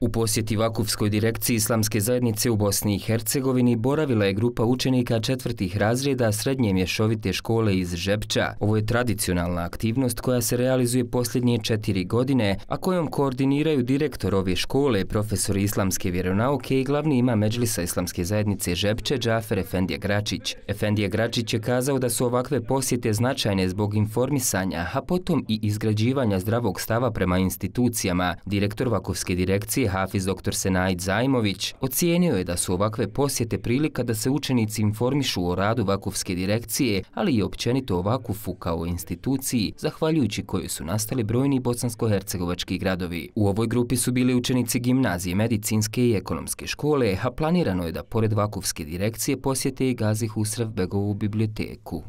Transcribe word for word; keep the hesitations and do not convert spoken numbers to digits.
U posjeti Vakufskoj direkciji Islamske zajednice u Bosni i Hercegovini boravila je grupa učenika četvrtih razreda Srednje mješovite škole iz Žepča. Ovo je tradicionalna aktivnost koja se realizuje posljednje četiri godine, a kojom koordiniraju direktor ove škole, profesor islamske vjeronauke i glavni imam Medžlisa Islamske zajednice Žepče, Džafer Efendija Gračić. Efendija Gračić je kazao da su ovakve posjete značajne zbog informisanja, a potom i izgrađivanja zdravog stava prema institucijama. Direktor Vakufske direkcije Hafiz doktor Senaid Zajmović ocijenio je da su ovakve posjete prilika da se učenici informišu o radu Vakufske direkcije, ali i općenito o Vakufu kao instituciji, zahvaljujući kojoj su nastali brojni bosansko-hercegovački gradovi. U ovoj grupi su bili učenici gimnazije, medicinske i ekonomske škole, a planirano je da pored Vakufske direkcije posjete i Gazi Husrev Begovu biblioteku.